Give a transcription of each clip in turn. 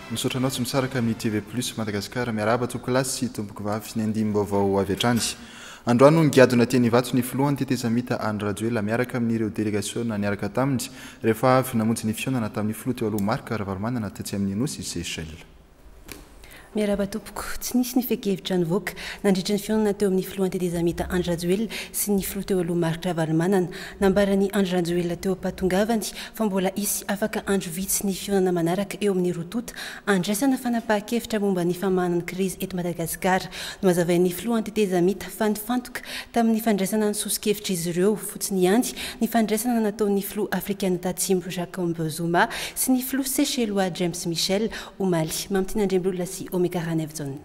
Misaotra anao tsy misaraka amin'ny TV Plus Madagascar. Miarahaba tompokolahy sy tompokovavy ny andinim-baovao avy hatrany. Androany no nigadona teny Ivato ny filohan'ny tetezamita Andry Rajoelina miaraka amin'ireo delegasiona niaraka taminy rehefa avy namonjy ny fihaonana tamin'ny filoha teo aloha Marc Ravalomanana tetsy amin'ny Nosy Seychelles. Miarahaba tompoko. Tsy nisy ny fehin-kevitra nivoaka nandritra ny fihaonana teo amin'ny filohan'ny tetezamita Andry Rajoelina sy ny filoha teo aloha Marc Ravalomanana. Nambaran'i Andry Rajoelina teo am-pahatongavany fa mbola hisy afaka andro vitsy ny fihaonana manaraka eo amin'ny roa tonta handraisana fanapahan-kevitra momba ny famahana ny krizy eto Madagasikara. Nohazavain'ny filohan'ny tetezamita fa nifantoka tamin'ny fandraisana ny soso-kevitr'izy ireo fotsiny ihany ny fandraisana nataon'ny filoha afrikana tatsimo Jacob Zuma sy ny filoha seychellois James Michel omaly. Mamitiana Andriambololona sy Omega Ranaivojaona.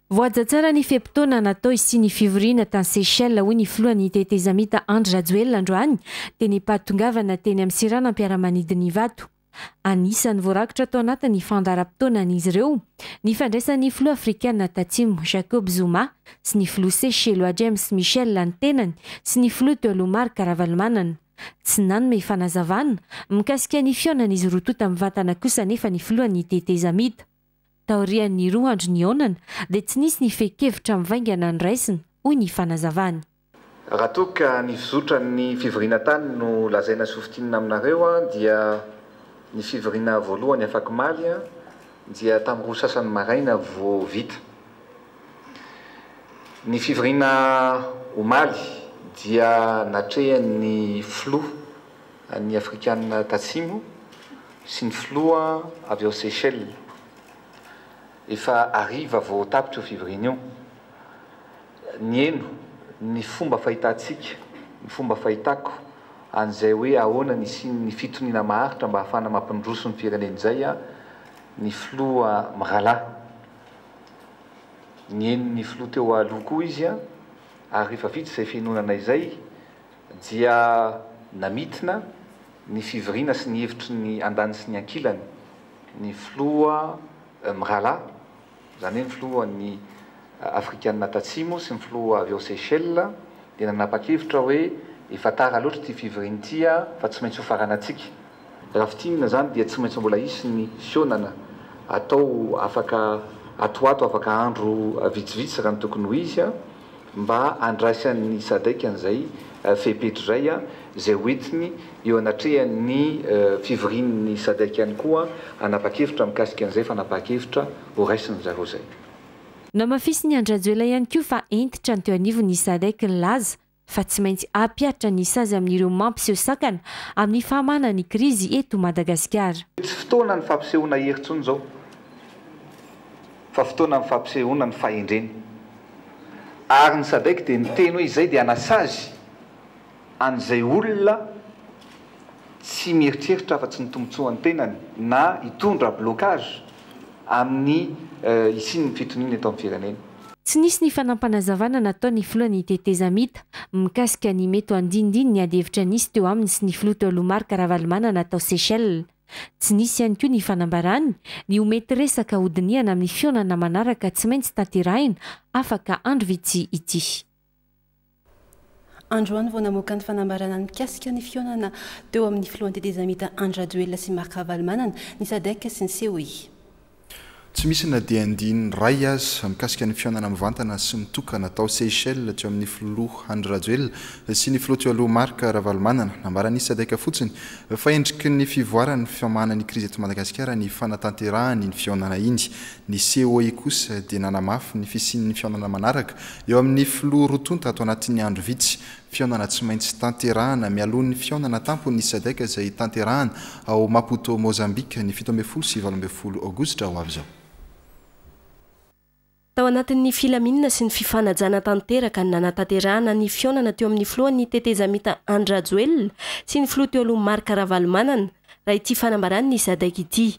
Voahaja tsara ny fe-potoana natao hisian'ny fivoriana tany Seychelles, hoy ny filohan'ny tetezamita Andry Rajoelina androany teny am-pahatongavana teny amin'ny seranam-piaramanidin'Ivato. Anisan'ny voarakitra tao anatin'ny fandaharam-potoanan'izy ireo ny fandraisan'ny filoha afrikana tatsimo Jacob Zuma sy ny filoha seychellois James Michel ny tenany sy ny filoha teo aloha Marc Ravalomanana. Tsy nanome fanazavana mikasika ny fihaonan'izy roa tonta mivantana kosa anefa ny filohan'ny tetezamita. Taorian'ny roa andro nihaonana dia tsy nisy ny fehin-kevitra mivaingana noraisina, hoy ny fanazavany. Raha toa ka ny fizotran'ny fivoriana tany no lazaina sy hofintinina aminareo dia ny fivoriana voalohany afak'omaly dia tamin'ny roa sasany maraina vao vita. Ny fivoriana omaly dia natrehan'ny filoha an'ny Afrikana Tatsimo sy ny filoha avy ao Seychelles. Efa hariva vao tapitra io fivoriana io. Niheno ny fomba fahitantsika, ny fomba fahitako an'izay hoe ahoana ny hisian'ny fitoniana maharitra mba hahafahana mampindroso ny firenena izay ny filoha mirahalahy. Nihaino ny filoha teo aloha koa izy ary rehefa vita izay fihainonana izay dia namintina ny fivoriana sy ny hevitry ny andaniny sy ny ankilany ny filoha mirahalahy, izany hoe ny filohan'ny Afrikana Tatsimo sy ny filoha avy ao Seychelles dia nanapa-kevitra hoe efa tara loatra ity fivoriana ity fa tsy maintsy hofaranantsika. Raha fintinina izany dia tsy maintsy mbola hisy ny fihaonana atao afaka ato ho ato, afaka andro vitsivitsy raha ny tokony ho izy, mba handraisan'ny Sadec an'izay fepetra izay, izay ho entiny eo anatrehan'ny fivorian'ny Sadec ihany koa hanapa-kevitra mikasika an'izay fanapahan-kevitra ho raisin'ny zareo izay. Namafisin'i Andry Rajoelina ihany koa fa hentitra ny teo anivon'ny Sadec nilaza fa tsy maintsy hampihatra ny sazy amin'ireo mampiseho sakana amin'ny fahamahana ny krizy eto Madagasikara. Tsy fotoana ny fampisehoana hery intsony izao fa fotoana ny fampisehoana ny fahendrena. Ary ny Sadec dia niteny hoe izay dia hanasazy an'izay olona tsy mieritreritra afa-tsy ny tombontsoan'ny tenany na hitondra blocage amin'ny hisian'ny fitoniana eto amin'ny firenena. Tsy nisy ny fanampanazavana nataon'ny filohan'ny tetezamita mikasika ny mety ho andinindininy adihevitra nisy teo aminy sy ny filoha teo aloha Marc Ravalomanana tao Seychelles. Tsy nisy ihany koa ny fanambarany ny ho mety resaka hodinihana amin'ny fihaonana manaraka tsy maintsy tanterahina afaka andro vitsy ity. Androany vao namoaka ny fanambarana mikasika ny fihaonana teo amin'ny filohan'ny tetezamita Andry Rajoelina sy Marc Ravalomanana ny Sadec sy ny COI. Tsy misy na dia andininy iray aza mikasika ny fihaonana mivantana sy mitokana tao Seychelles teo amin'ny filoha Andry Rajoelina sy ny filoha teo aloha Marc Ravalomanana. Nambaran'ny Sadec fotsiny fa endriky ny fivoaran'ny famahana ny krizy eto Madagasikara ny fanatanterahany iny fihaonana iny. Ny COI kosa dia nanamafy ny fisian'ny fihaonana manaraka eo amin'ny filoha roa tonta ato anatin'ny andro vitsy. Fihaonana tsy maintsy tanterahana mialoha ny fihaonana tampon'ny Sadec izay tanterahana ao Maputo Mozambique ny 17 sy 18 aogositra ho avy izao. Tao anatin'ny filaminana sy ny fifanajana tanteraka no nanatanterahana ny fihaonana teo amin'ny filohan'ny tetezamita Andry Rajoelina sy ny filoha teo aloha Marc Ravalomanana, raha ity fanambaran'ny Sadec ity.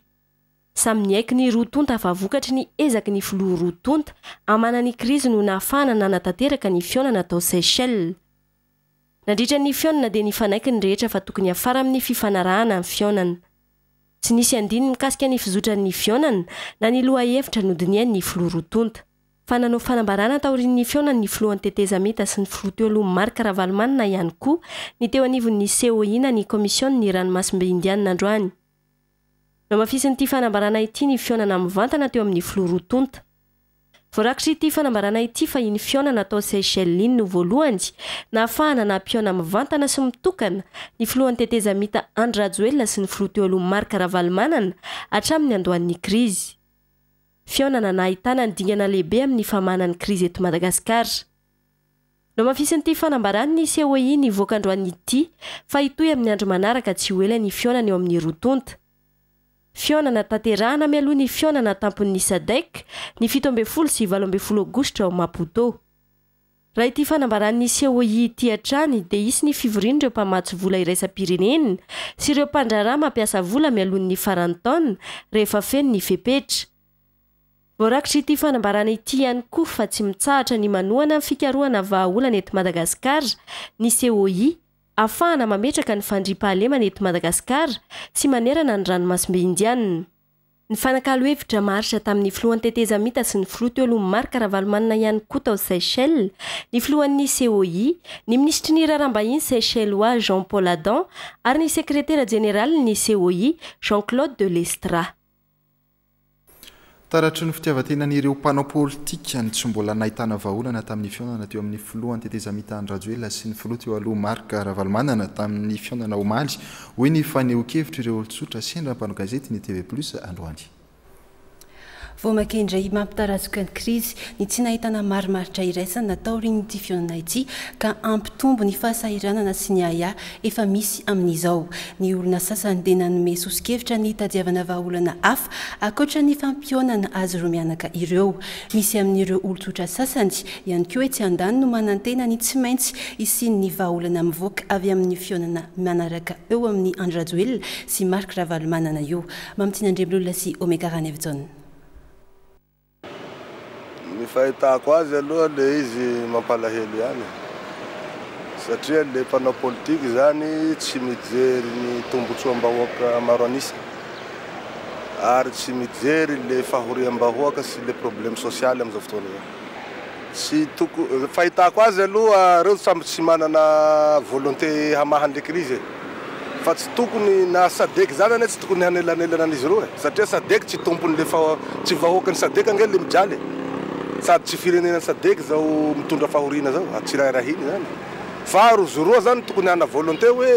Samy niaiky ny roa tonta fa vokatry ny ezaky ny filoha roa tonta hamana ny krizy no nahafahana nanatanteraka ny fihaonana tao Seychelles. Nandritra ny fihaonana dia nifanaiky ny rehetra fa tokony hiafara amin'ny fifanarahana ny fihaonana. Tsy nisy andininy mikasika ny fizotran'ny fihaonana na ny lohahevitra nodinihan'ny filoha roa tonta. Fa nanao fanambarana taorian'ny fihaonan'ny filohan'ny tetezamita sy ny filoha teo aloha Marc Ravalomanana ihany koa ny teo anivon'ny COI na ny Kaomisionin'ny ranomasimbe Indianina androany. Nohamafisin'ity fanambarana ity ny fihaonana mivantana teo amin'ny filoha roa tonta. Voarakitr'ity fanambarana ity fa iny fihaonana tao Seychelles iny no voalohany nahafahana nampihaona mivantana sy mitokana ny filohan'ny tetezamita Andry Rajoelina sy ny filoha teo aloha Marc Ravalomanana hatramin'ny niandohan'ny krizy. Fihaonana nahitana ny dingana lehibe amin'ny famahana ny krizy eto Madagasikara. Nohamafisin'ity fanambaran'ny COI nivoaka androany ity fa hitohy amin'ny andro manaraka tsy ho ela ny fihaonana eo amin'ny roa tonta. Fihaonana tanterahana mialoha ny fihaonana an-tampon'ny Sadec ny 17 sy 18 aogositra ao Maputo. Raha ity fanambaran'ny COI ity hatrany dia hisy ny fivorian'ireo mpamatsy vola iraisam-pirenena sy ireo mpandraharaha mampiasa vola mialoha ny faran'ny taona rehefa feno ny fepetra. Voarakitr'ity fanambarana ity ihany koa fa tsy mitsahatra ny manohana ny fikarohana vahaolana eto Madagasikara ny COI ahafahana mametraka ny fandriampahalemana eto Madagasikara sy manerana ny ranomasimbe Indianina. Nifanakalo hevitra maharitra tamin'ny filohan'ny tetezamita sy ny filoha teo aloha Marc Ravalomanana ihany koa tao Seychelles ny filohan'ny COI, ny minisitry ny raharaham-bahiny Seychellois Jean Paul Adam ary ny sekretera jeneralin'ny COI Jean Claude de Lestra. Taratry ny fitiavan-tenan'ireo mpanao politika ny tsy mbola nahitana vahaolana tamin'ny fihaonana teo amin'ny filohan'ny tetezamita Andry Rajoelina sy ny filoha teo aloha Marc Ravalomanana tamin'ny fihaonana omaly, hoy ny fanehoan-kevitr'ireo olon-tsotra sendra mpanao gazety ny TV Plus androany. Vao mainka indray mampitarazoka ny krizy ny tsy nahitana marimaritra iraisana taorian'ity fihaonana ity ka hampitombo ny fahasahiranana sy ny ahiahy efa misy amin'izao. Ny olona sasany dia nanome soso-kevitra ny hitadiavana vahaolana hafa ankoatra ny fampihaonana azy roa mianaka ireo. Misy amin'ireo olon-tsotra sasany ihany koa etsy andaniny no manantena ny tsy maintsy hisian'ny vahaolana mivoaka avy amin'ny fihaonana manaraka eo amin'i Andry Rajoelina sy Marc Ravalomanana io. Mamitiana Andriamilolona sy Omega Ranaivojaona. Ny fahitako azy aloha le izy mampalahelo ihany satria le mpanao politique zany tsy mijery ny tombotsoam-bahoaka maro an'isa ary tsy mijery le fahoriam-bahoaka sy le problème social amizao fotoana zao. Tsy toko, fahitako azy aloha reo samby tsy manana volonté hamaha anle crise e! Fa tsy tokony na sadec zany anie tsy tokony hanelanelana an'izy roa e! Satria sadec tsy tompon'le fa tsy vahoakan'ny sadec ange le mijaly e! Sady tsy firenena sadec zao mitondra fahoriana zao, tsy rahirahiny zany fa rozy roa zany tokony hana volonté hoe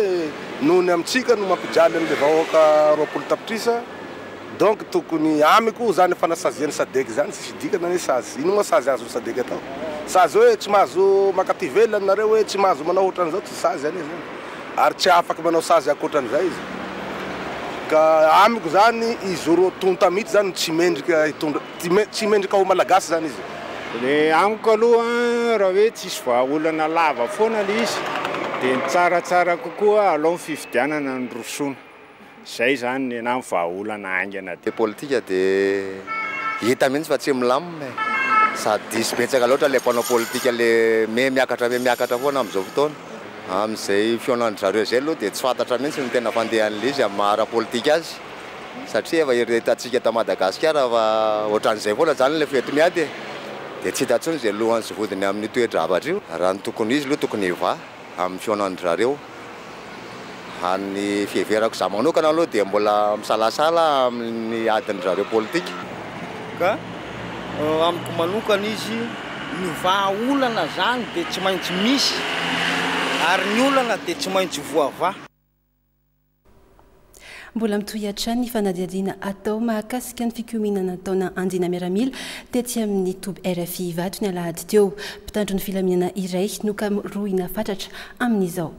noho ny amintsika no mampijaly an'le vahoaka 20 tapitrisa. Donc tokony amiko zany fanasazian'ny sadec zany tsisy dikany anie sazy, ino moa sazy azon'ny sadec atao? Sazy hoe tsy mahazo makaty ivelany nareo hoe tsy mahazo manao otran'izao tsy sazy anie zany ary tsy afaky manao sazy ankoatran'izay izy ka amiko zany izy roa tonta mihitsy zany no tsy mendrika hitondra tsy mendrika ho malagasy zany izy. Le amiko aloha raha hoe tsisy vahaolana lava foana le izy de ny tsaratsara kokoa alao ny fifidianana no rosoana. Zay zany nenah ny vahaolana haingana. Le politika de hita mihitsy fa tsy milamina e! Sady diso betsaka loatra le mpanao politika le me miakatra me miakatra foana amin'izao fotoana. Amin'izay fihaonan-dry zareo izay aloha dia tsy fantatra mihitsy ny tena fandehan'ilay izy amin'ny maha ara-politika azy satria efa hitantsika eto Madagasikara fa ohatran'izay foana izany ilay fety-miady e! Dia tsy hita intsony izay lohany sy vodiny amin'io toe-javatra io. Raha ny tokony ho izy aloha tokony hivaha. amin'ny fihaonan-dry zareo. Raha ny fiheverako izaho manokana aloha dia mbola misalasala amin'ny adin-dry zareo politika. Ka amiko manokana izy, ny vahaolana zany dia tsy maintsy misy ary ny olana dia tsy maintsy voavaha. Mbola mitohy hatrany ny fanadihadiana atao mahakasika ny fikomiana nataona andiana miaramila tetsy amin'ny toby RFI Ivato ny alahady teo. Mpitandro ny filaminana iray no karohina fatratra amin'izao.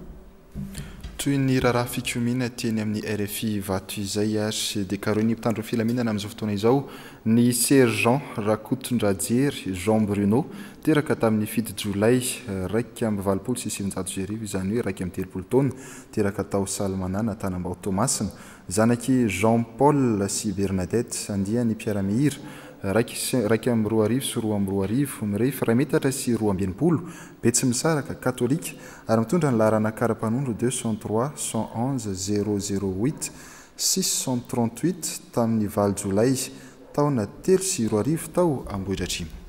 Toy ny raharaha fikomiana teny amin'ny RFI Ivato izay ary dia karohin'ny mpitandro ny filaminana amin'izao fotoana izao ny Sergent Rakotondrajery Jean Bruno, teraka tamin'ny 7 jolay 1981, izany hoe 31 taona, Teraka tao Salmanana, Tanambao Toamasina. Zanak'i Jean Paul sy Bernadette, andiany mpiara-mihira, 2001 2002, mirefy iray metatra sy 62, Betsimisaraka, katolika, ary mitondra ny laharana kara-panondro 203 111 008 638 tamin'ny 8 jolay taona 2003 tao Ambohidratrimo.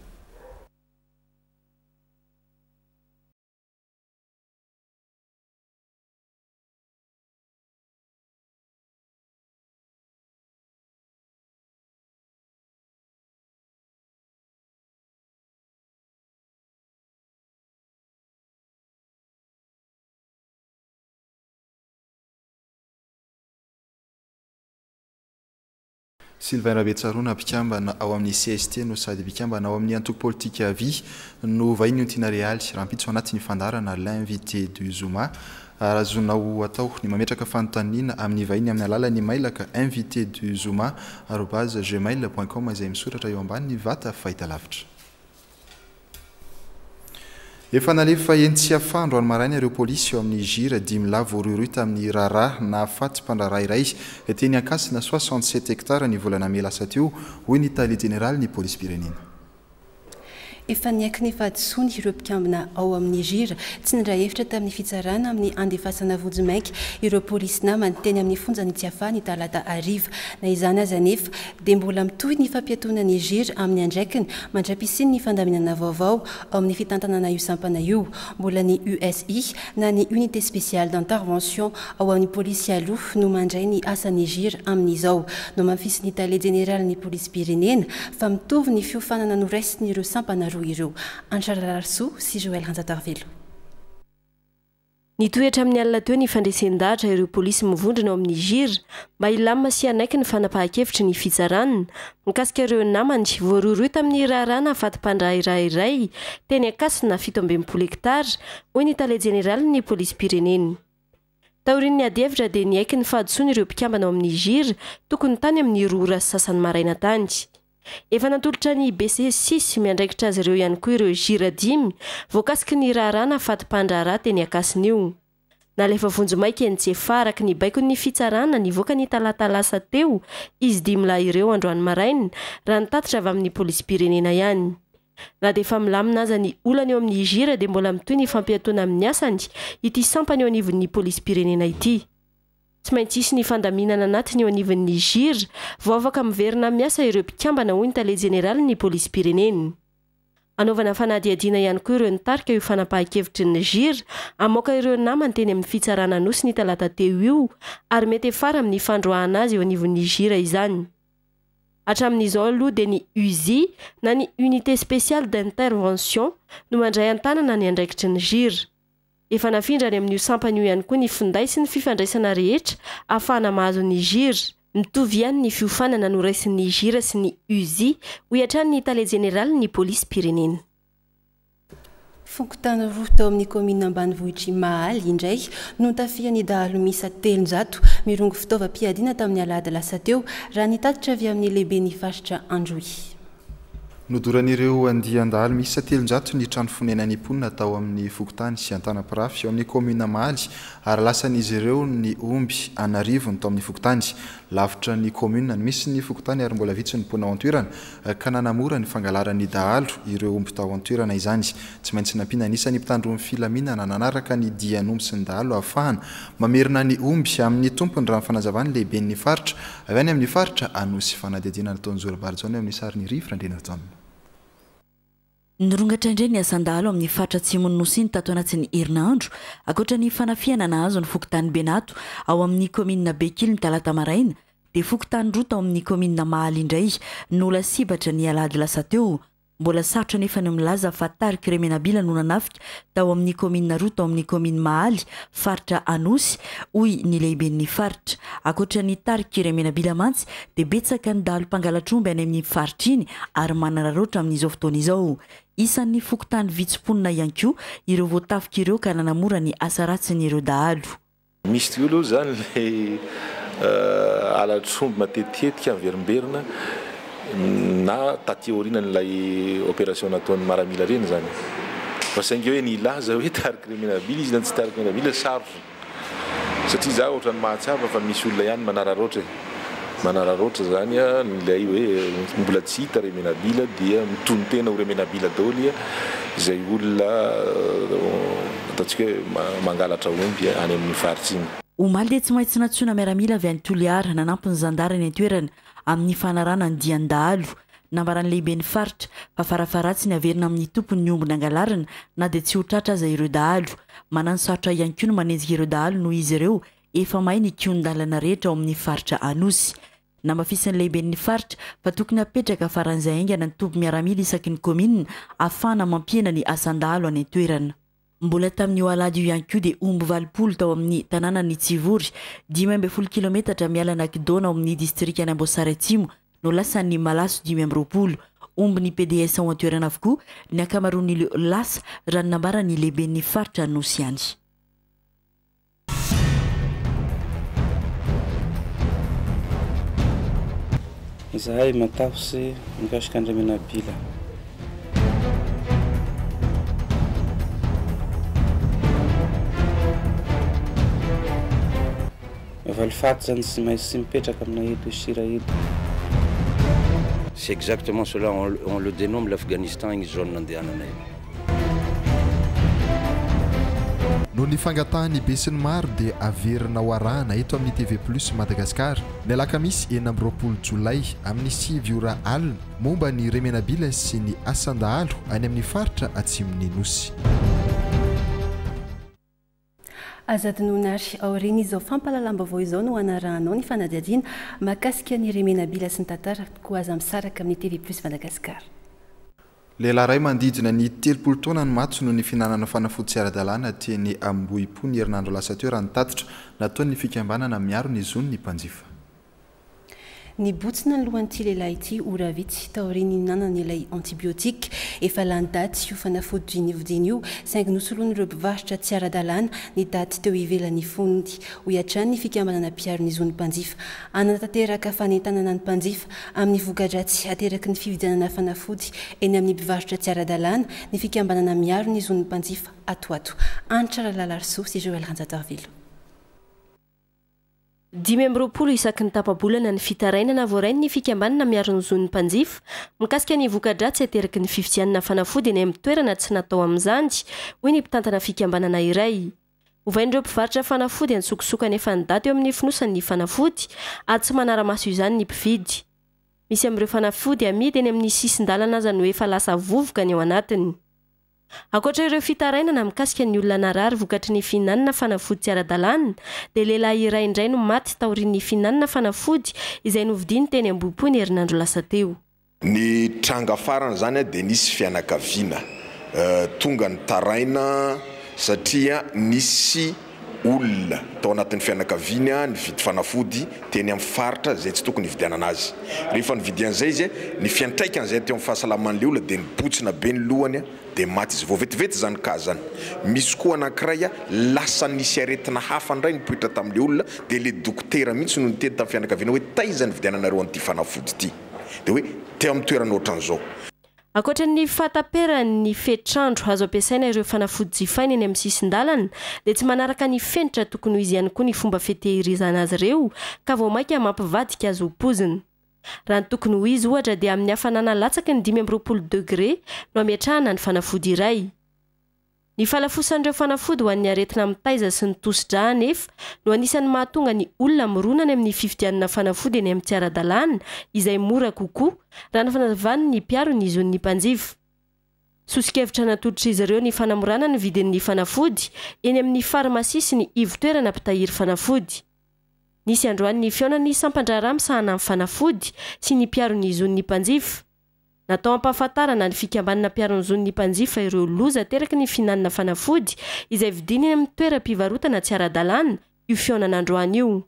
Sylvain Rabetsaroana, mpikambana ao amin'ny cst no sady mpikambana ao amin'ny antoko politika Avi no vahiny Ontiana Realy rahampitso anatin'ny fandaharana L'invité du Zoma. Ary azonao atao ny mametraka fanontaniana amin'ny vahiny amin'ny alalan'ny mailaka invité-du-zoma arobase gmail point com izay misoratra eo ambanin'ny vata fahitalavitra. Efa nalefa eny Tsiafahy androany maraina ireo polisy eo amin'ny Hjra dimy lahy voarohirohy tamin'ny raharaha nahafaty mpandraharaha iray teny Ankasina 67 hectares ny volana mey lasa teo, hoy ny tale jeneralin'ny polisim-pirenena. Efa niaiky ny fahadisoany ireo mpikambana ao amin'ny Hjra. Tsy niray hevitra tamin'ny fitsarana amin'ny handefasana vonjimaika ireo polisy namany teny amin'ny fonjan'i Tsiafahy ny talata hariva. Na izany aza anefa dia mbola mitohy ny fampiatoana ny Hjra amin'ny andraikiny mandra-pisian'ny fandaminana vaovao ao amin'ny fitantanana io sampana io. Mbola ny USI na ny Unité Spéciale d'Intervention ao amin'ny polisy aloha no mandray ny asan'ny Hjra amin'izao. Nohamafisin'ny tale jeneralin'ny polisim-pirenena fa mitovy ny fiofanana noraisin'ireo sampana roa ireo. Antra Rararisoa sy Joël Ranjatarivelo. Nitohy hatramin'ny alina teo ny fandresen-dahatra ireo polisy mivondrona ao amin'ny Hjra mba hilamina sy hanaiky ny fanapahan-kevitry ny fitsarana mikasika ireo namany voarohirohy tamin'ny raharaha nahafaty mpandraharaha iray teny Ankasina 67 hektara, hoy ny tale jeneralin'ny polisim-pirenena. Taorian'ny adihevitra dia niaiky ny fahadisoany ireo mpikambana ao amin'ny Hjra tokony tany amin'ny 2 ora sy sasany maraina tany. Efa natolotra ny BC six miandraikitra azy ireo ihany koa ireo Hjra dimy voakasiky ny raharaha nahafaty mpandraharaha teny Ankasina io. Nalefa vonjimaika eny Tsiafahy araka ny baikon'ny fitsarana nivoaka ny talata lasa teo izy dimy lahy ireo androany maraina raha ny tatitra avy amin'ny polisim-pirenena ihany. Na dia efa milamina aza ny olana eo amin'ny Hjra dia mbola mitohy ny fampiatoana amin'ny asany ity sampana eo anivon'ny polisim-pirenena ity. Tsy maintsy hisy ny fandaminana anatiny eo anivon'ny Hjra vao afaka miverina miasa ireo mpikambana hoy ny tale jeneralin'ny polisim-pirenena. Hanaovana fanadihadiana ihany koa ireo nitarika io fanapahan-kevitry ny Hjra hamoaka ireo namany teny amin'ny fitsarana Anosy ny talata teo io ary mety hiafara amin'ny fandroahana azy eo anivon'ny Hjra izany. Hatramin'izao aloha dia ny USI na ny Unité Spéciale d'Intervention no mandray an-tanana ny andraikitry ny Hjra. Efa nafindra any amin'io sampana io ihany koa ny finday sy ny fifandraisana rehetra ahafahana mahazo ny Hjra. Mitovy ihany ny fiofanana noraisin'ny Hjra sy ny USI, hoy hatrany ny tale jeneralin'ny polisim-pirenena. Fokontany roa tao amin'ny kaominina ambanivohitr'i Mahaly indray no notafihan'ny dahalo miisa 300 mirongo fitaovam-piadiana tamin'ny alahady lasa teo, raha ny tatitra avy amin'ny lehiben'ny faritra Androy. Nodoran'ireo andian-dahalo miisa 300 ny trano fonenan'ny mponina tao amin'ny fokontany Antanapirafy ao amin'ny kaominina Mahaly ary lasan'izy ireo ny omby an'arivony tao amin'ny fokontany. Lavitra ny kaominina no misy ny fokontany ary mbola vitsy ny mponina ao an-toerana. ka nanamora ny fangalaran'ny dahalo ireo omby tao an-toerana izany. Tsy maintsy nampiana ny isan'ny mpitandro ny filaminana nanaraka ny dian'omby sy ny dahalo ahafahana mamerina ny omby amin'ny tompony raha ny fanazavan'ny lehiben'ny faritra avy any amin'ny faritra Anosy. Fanadihadiana nataon'i Zora Barijaona eo amin'ny sarin'i Rivo Randrianarijaona. Nirongatra indray ny asan-dahalo amin'ny faritra atsimon'ny Nosy iny tato anatin'ny herinandro, ankoatra ny fanafihana nahazo ny fokontany Benato ao amin'ny kaominina Bekily ny talata maraina dia fokontany roa tao amin'ny kaominina Mahaly indray no lasibatra ny alahady lasa teo. Mbola sarotra anefa ny milaza fa tariky Remenabila no nanafika tao amin'ny kaominina roa tao amin'ny kaomin'ny Mahaly, faritra Anosy, hoy ny lehiben'ny faritra. Ankoatra ny tariky Remenabila mantsy dia betsaka ny dahalo mpangalatr'omby any amin'ny faritra iny ary manararaotra amin'izao fotoana izao. Isan'ny fokontany vitsy mponina ihany koa ireo voatafika ireo ka nanamora ny asa ratsin'ireo dahalo. Misy tokoa aloha izany ilay halatr'omby matetitetika miverimberina na taty aorianan'ilay opération nataon'ny maramila ireny izany. Fa saingy hoe ny hilaza hoe tariky Remenabila izy na tsy tariky Remenabila sarotra. Satria za ohatran'ny mahatsapa fa misy olona ihany manararaotra e. Manararaotra izany ilay hoe mbola tsy hita Remenabila dia mitonon-tena ho Remenabila daholo izay olona ataontsika hoe mangalatra omby any amin'ny faritra iny. Omaly dia tsy maintsy nantsoina miaramila avy any Toliara nanampy ny zandary any an-toerana amin'ny fanarahana ny dian-dahalo. Nambaran'ny lehiben'ny faritra fa farafaharatsiny haverina amin'ny tompony ny omby nangalarina na dia tsy ho tratra aza ireo dahalo. Mananosarotra ihany koa ny manenjika ireo dahalo noho izy ireo efa mahay ny kihon-dalana rehetra ao amin'ny faritra Anosy. Namafisin'ny lehiben'ny faritra fa tokony hapetraka faran'izay haingana ny toby miaramila isaky ny kaominina ahafahana mampihena ny asan-dahalo any an-toerana. Mbola tamin'io alahady io ihany koa dia omby 80 tao amin'ny tanànan'i Tsivory, 15 kilometatra miala an'Ankidona ao amin'ny distrikan'Amboasary Atsimo. no lasan'ny malaso 25. Omby ny pds ao an-toerana avokoa ny ankamaroan'ireo lasa, raha ny nambaran'ny lehiben'ny faritra Anosy ihany. Izahay matahotse mikasika an-dRemenabila. Valifaty zany tsy maintsy mipetraka aminay eto sira eto. C'est exactement cela, on le dénomme l'Afghanistan igny zone nandehananay. Noho ny fangatahan'ny besinimaro dia averina ho arahana eto amin'ny TV Plus Madagascar ny alakamisy 26 jolay amin'ny 9 ora alina momba ny Remenabila sy ny asan-dahalo any amin'ny faritra atsimon'ny Nosy. Aza adinoina ary aorian'izao fampahalalam-baovao izao no hanarahanao ny fanadihadiana mahakasika ny Remenabila sy ny tantara koa aza misaraka amin'ny TV Plus Madagascar. Lehilahy iray manodidina ny 30 taona no maty noho ny fihinanana fanafody tsy ara-dalàna teny Ambohipo ny herinandro lasa teo raha ny tatitra nataon'ny fikambanana miaro ny zon'ny mpanjifa. Nibotsina ny lohan'ity lehilahy ity ora vitsy taorian'ny nihinanany ilay antibiotique. Efa lany daty io fanafody novidiany io, saingy nosoloan'ireo mpivarotra tsy ara-dalàna ny daty teo ivelan'ny fonony, hoy hatrany ny fikambanana mpiaro ny zon'ny mpanjifa. Hanatanteraka fanentanana ny mpanjifa amin'ny voka-dratsy ateraky ny fividianana fanafody eny amin'ny mpivarotra tsy ara-dalàna ny fikambanana miaro ny zon'ny mpanjifa ato ho ato. Hanitra Ralalarisoa sy Joël Ranjatarivelo. 25 isaky ny tapa-bolana ny fitarainana voarain'ny fikambanana miaro ny zon'ny mpanjifa mikasika ny voka-dratsy ateraky ny fividianana fanafody eny amin'ny toerana tsy natao amin'izany, hoy ny mpitantana fikambanana iray. Ovain'ireo mpivarotra fanafody an-tsokosoko anefa ny daty eo amin'ny fonosany ny fanafody ary tsy manara-maso izany ny mpividy. Misy amin'ireo fanafody amidy eny amin'ny sisin-dalana aza no efa lasa vovoka ny ao anatiny. Ankoatra ireo fitarainana mikasika ny olona narary vokatry ny fihinanana fanafody tsy ara-dalàna dia lehilahy iray indray no maty taorian'ny fihinanana fanafody izay novidiany teny Ambohipo ny herinandro lasa teo. Ny tranga farany izany dia nisy fianakaviana tonga nitaraina satria nisy olona tao anatin'ny fianakaviany nividy fanafody teny amin'ny faritra izay tsy tokony hividianana azy. Rehefa nividy an'izay izy, ny fiantraikan'izay teo amin'ny fahasalaman'ilay olona dia nibotsina be ny lohany dia maty izy. Vao vetivety izany cas izany. Misy koa anankiray lasa nisy aretina hafa indray nipoitra tamin'ilay olona dia ilay dokotera mihitsy no niteny tamin'ny fianakaviana hoe taiza nividiananareo an'ity fanafody ity? Dia hoe teo amin'ny toerana ohatran'izao. Ankoatra ny fahataperan'ny fetr'andro azo ampiasaina ireo fanafody jifaina eny amin'ny sisin-dalana dia tsy manaraka ny fenitra tokony ho izy ihany koa ny fomba fitehirizana azy ireo ka vao mainka mampivadika azy ho poizina. Raha ny tokony ho izy ohatra dia amin'ny hafanana latsaky ny 25 degré no ametrahana ny fanafody iray. Ny fahalafosan'ireo fanafody ho an'ny aretina mitaiza sy ny tosi-drà anefa no anisan'ny mahatonga ny olona mirona any amin'ny fividianana fanafody eny amin'ny tsy ara-dalàna izay mora kokoa, raha ny fanazavan'ny mpiaro ny zon'ny mpanjifa. Soso-kevitra natolotr'izy ireo ny fanamorana ny vidin'ny fanafody eny amin'ny farmasia sy ny ivon-toerana mpitahiry fanafody. Nisy androany ny fihaonan'ny sampan-draharaha misahana ny fanafody sy ny mpiaro ny zon'ny mpanjifa. Natao hampahafantarana ny fikambanana mpiaro ny zon'ny mpanjifa ireo loza ateraky ny fihinanana fanafody izay vidiana eny amin'ny toeram-pivarotana tsy ara-dalàna io fihaonana androany io.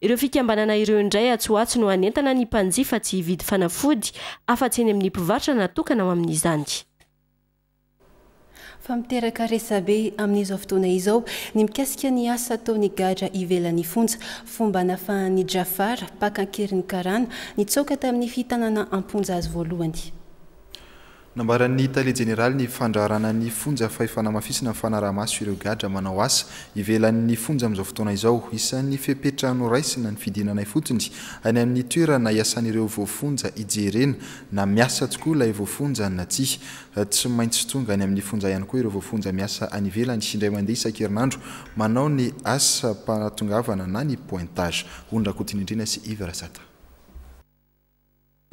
Ireo fikambanana ireo indray atsy ho atsy no hanentana ny mpanjifa tsy hividy fanafody afa-tsy eny amin'ny mpivarotra natokana ho amin'izany. Fa miteraka resabe amin'izao fotoana izao ny mikasika ny asa ataon'ny gadra ivelan'ny fonja. Fomba nafahan'i Jafar, mpaka an-keriny karana, nitsoaka tamin'ny fitanana am-ponja azy voalohany. Nambaran'ny tale jeneralin'ny fandraharana ny fonja fa efa namafisina ny fanaraha-maso ireo gadra manao asa ivelan'ny fonja amin'izao fotoana izao. Isan'ny fepetra noraisina ny fidinana ifotony any amin'ny toerana iasan'ireo voafonja hijerena na miasa tokoa ilay voafonja na tsia. Tsy maintsy tonga any amin'ny fonja ihany koa ireo voafonja miasa any ivelany indray mandeha isan-kerinandro manao ny asam-pahatongavana na ny pointage. Ony Rakotonindrina sy Yves Rasata.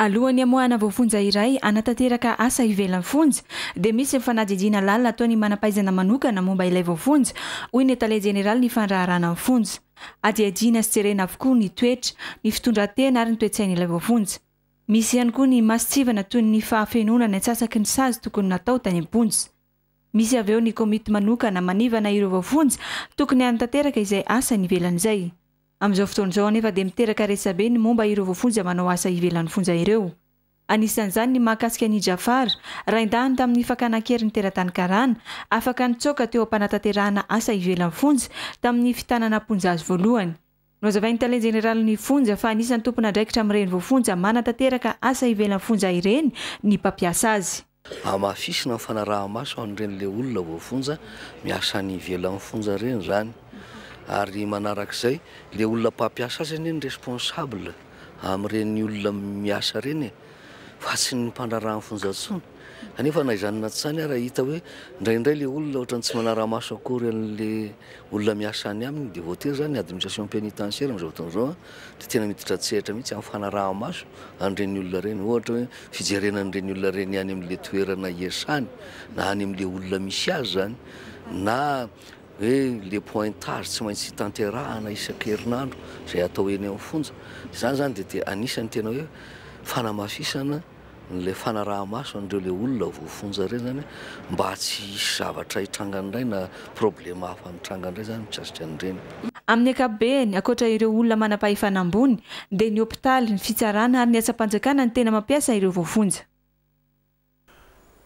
Alohan'ny hamoahana voafonja iray hanatanteraka asa ivelan'ny fonja dia misy ny fanadihadiana lalina ataon'ny manam-pahaizana manokana momba ilay voafonja, hoy ny tale jeneralin'ny fandraharahana ny fonja. Hadihadiana sy jerena avokoa ny toetra, ny fitondran-tena ary ny toe-tsain'ilay voafonja. Misy ihany koa ny mason-tsivana toy ny fahafenoana ny antsasaky ny sazy tokony natao tany am-ponja. Misy avy eo ny komity manokana manivana ireo voafonja tokony hanatanteraka izay asany ivelan'izay. Amin'izao fotoana izao anefa dia miteraka resabe ny momba ireo voafonja manao asa ivelan'ny fonja ireo. Anisan'izany ny mahakasika an'i Jafar, raindahiny tamin'ny fakana an-keriny teratany karana, afaka nitsoaka teo am-panatanterahana asa ivelan'ny fonja tamin'ny fitanana am-ponja azy voalohany. Nohazavain'ny tale jeneralin'ny fonja fa anisan'ny tompon'andraikitra amin'ireny voafonja manatanteraka asa ivelan'ny fonja ireny ny mpampiasa azy. Hamafisina ny fanaraha-maso an'ireny le olona voafonja miasa any ivelan'ny fonja ireny izany. Ary manarak'izay, le olona mpampiasa azy anie no responsable amin'ireny olona miasa ireny e, fa tsy ny mpandraharaha ny fonja intsony. Kanefa na izany na tsy izany ara hita hoe indraindray le olona ohatran'ny tsy manara-maso akory an'le olona miasa any aminy dia voatery izany ny administration pénitentiaire amin'izao fotoana izao dia tena miditra an-tsehatra mihitsy amin'ny fanaraha-maso an'ireny olona ireny. Ohatra hoe fijerena an'ireny olona ireny any amin'le toerana iasany na any amin'le olona misy azy izany na hoe le pointage tsy maintsy tanterahana isan-kerinandro izay atao eny amin'ny fonja. Izany izany dia dia anisan'ny tena hoe fanamafisana an'ilay fanaraha-maso an'ireo ilay olona voafonja ireny izany mba tsy hisy zavatra hitranga indray na problema hafa mitranga indray izany mikasika an'ireny. Amin'ny ankapobeny, ankoatra ireo olona manam-pahefana ambony, dia ny hopitaly, ny fitsarana ary ny asam-panjakana no tena mampiasa ireo voafonja.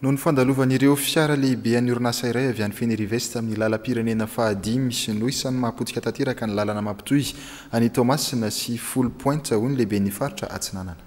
Noho ny fandalovan'ireo fiara lehibe an'ny orinasa iray avy any Fenerive-Est amin'ny lalam-pirenena fahadimy no isan'ny mahapotika tanteraka ny lalana mampitohy an'i Toamasina sy Foulpointe, hoy ny lehiben'ny faritra Atsinanana.